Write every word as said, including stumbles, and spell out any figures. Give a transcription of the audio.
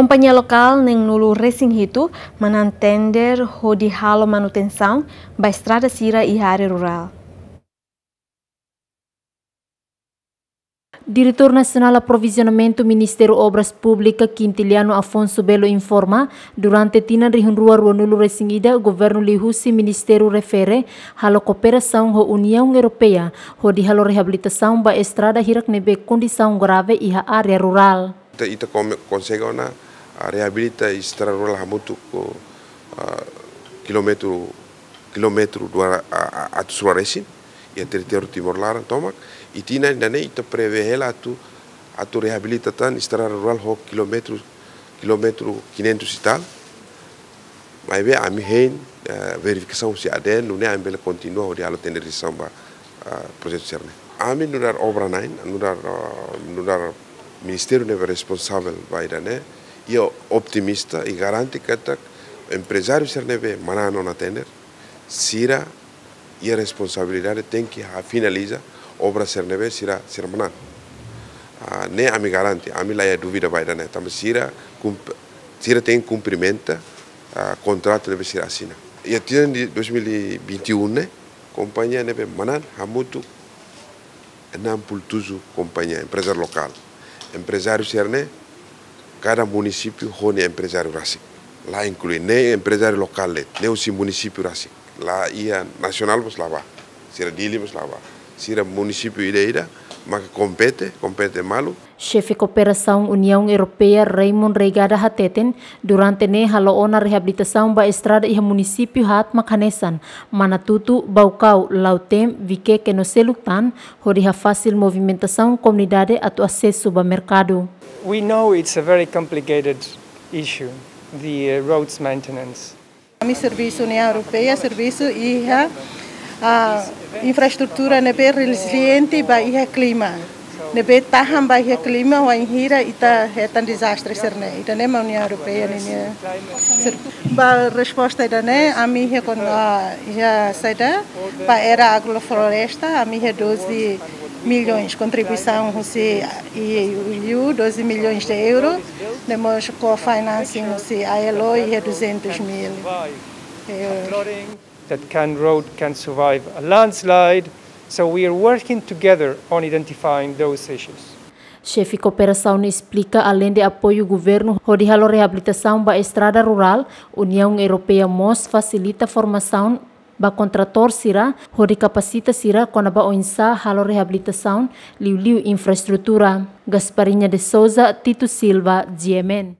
Kompañia lokál neen-nulu resin hitu manán tender hodi halo manutensaun ba estrada sira iha área rurál. Diretór Nasionál Aprovizionamentu Ministériu Obras Públikas, Quintiliano Afonso Belo, informa, durante tinan rihun rua ruanulu resin ida, governu liuhusi ministériu refere halo kooperasaun ho Uniaun Europeia hodi halo reabilitasaun ba estrada hirak ne'ebé kondisaun grave iha área rurál. Ita, ita kome-, konsege ona, ah, reabilita estrada rurál hamutuk ho, ah, kilómetru, kilómetru dua, ah, ah, atus rua resin, iha territóriu Timor laran tomak. I tinan ida-ne'e ita prevee hela atu, atu reabilita tan estrada rurál ho kilómetru, kilómetru quinhentos e tal. Maibé ami hein, eh, verifikasaun husi ADN, nune'e ami bele kontinua hodi halo tenderizasaun ba, eh, projetu sira-ne'e. Ami nu'udar obra na'in, nu'udar, eh, nu'udar ministériu ne'ebé responsavel ba ida-ne'e, iha otimista i garante katak emprezáriu sira ne'ebé manán ona tender, sira iha responsabilidade tenke ha-, finaliza obra sira ne'ebé sira, sira manán. Ah, ne'e ami garante, ami la iha dúvida ba ida-ne'e, tanba sira kump-, sira tenke kumprimenta, ah, kontratu ne'ebé sira asina. Iha tinan de dois mil e vinte e um ne'e, kompañia ne'ebé manán hamutuk enam puluh tujuh kompañia, emprezáriu lokál. Emprezáriu sira-ne'e, kada munisípiu ho nia emprezáriu rasik. La inklui ne'e emprezáriu lokál de'it, ne'e husi munisípiu rasik. La iha nasionál mós la bá. Sira Dili mós la bá. Sira munisípiu ida-idak maka kompete, kompete malu. Xefe Kooperasaun Uniaun Europeia, Raymond Reigada, hateten, durante ne'e halo ona reabilitasaun ba estrada iha munisípiu haat mak hanesan Manatutu, Baucau, Lautém, Viqueque no seluk tan, hodi hafasil movimentasaun komunidade atu asesu ba merkadu. We know it's a very complicated issue, the, uh, roads maintenance. Ami servisu Uniaun Europeia, servisu iha, ah, infraestrutura ne'ebé reziliente ba iha klima. Ne'ebé tahan ba iha klima, wainhira ita hetan dezastre sira-ne'e. Ida-ne'e mak Uniaun Europeia ninia ser-, ba resposta ida-ne'e, ami iha kon-, ah, iha saida, ba era agrofloresta, ami iha doze milhões kontribuisaun husi E U, doze milhões de euro, ne'e mós co-financing husi ILO iha duzentos mil euros. That can, road can survive a landslide, so we are working together on identifying those issues. Xefe Kooperasaun esplika, aleinde apoiu governu hodi halo reabilitasaun ba estrada rurál, Uniaun Europeia mós fasilita formasaun ba kontratór sira, hodi kapasita sira kona-ba oinsá halo reabilitasaun, liuliu infraestrutura. Gasparinha de Souza, Tito Silva, G M N.